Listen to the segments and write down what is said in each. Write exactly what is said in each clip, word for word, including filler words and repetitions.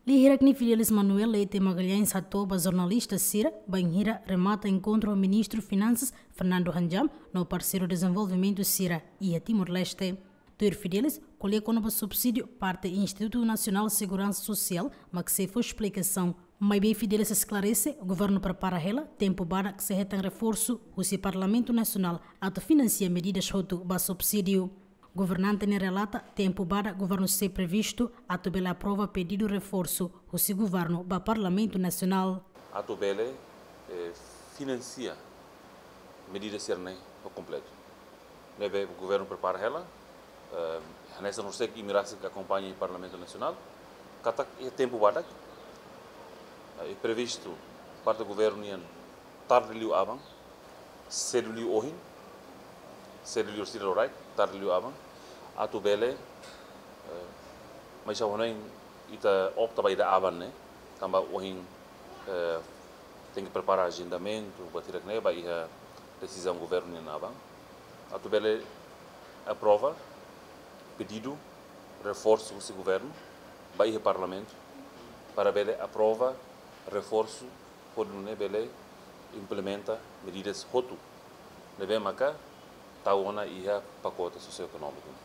Lia hirak ne'e Fidelis Manuel Leite Magalhães hato'o ba jornalista sira bainhira remata enkontru ho Ministru Finansas Fernando Hanjam no parseiru dezenvolvimentu sira iha Timor-Leste. Tuir Fidelis, ko'alia kona-ba subsídiu parte Institutu Nasionál Seguransa Sosiál mak sei fó esplikasaun. Maibé Fidelis esklarese, governu prepara hela tempu badak sei hetan reforsu husi Parlamentu Nasionál atu finansia medidas hotu ba subsídiu. Governante ne'e relata tempu badak governu sei previstu atu bele aprova pedidu reforsu husi governu ba Parlamentu Nasionál. Atu bele, eh, finansia medidas sira-ne'e ho kompletu. Ne'ebé governu prepara hela, eh, hanesan horiseik imi rasik akompaña iha Parlamentu Nasionál, katak iha tempu badak, eh, previstu parte governu nian tarde liu aban, sedu liu ohin, sedu liu sira loraik, tarde liu aban, atu bele, eh, maibé hanoin ita opta ba ida aban ne'e, tanba ohin, eh, tenke prepara ajendamentu, buat hirak-ne'e ba iha desizaun governu nian aban. Atu bele aprova pedidu reforsu husi governu ba iha Parlamentu, para bele aprova reforsu hodi nune'e bele implementa medidas hotu ne'ebé maka tau ona iha pakote sosioekonómiku.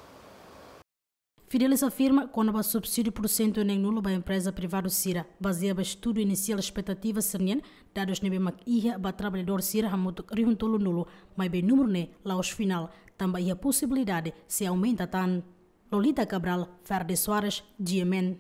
Fidelis afirma kona-ba subsídiu pursentu neen-nulu ba empreza privadu sira, bazeia ba estudu inisiál espetativa sira-nian, dadus ne'ebé mak iha ba traballadór sira hamutuk rihun tolunulu, maibé númeru ne'e la'ós finál, tanba iha posibilidade sei aumenta tan. Lolita Cabral, Ferde Soares, G M N.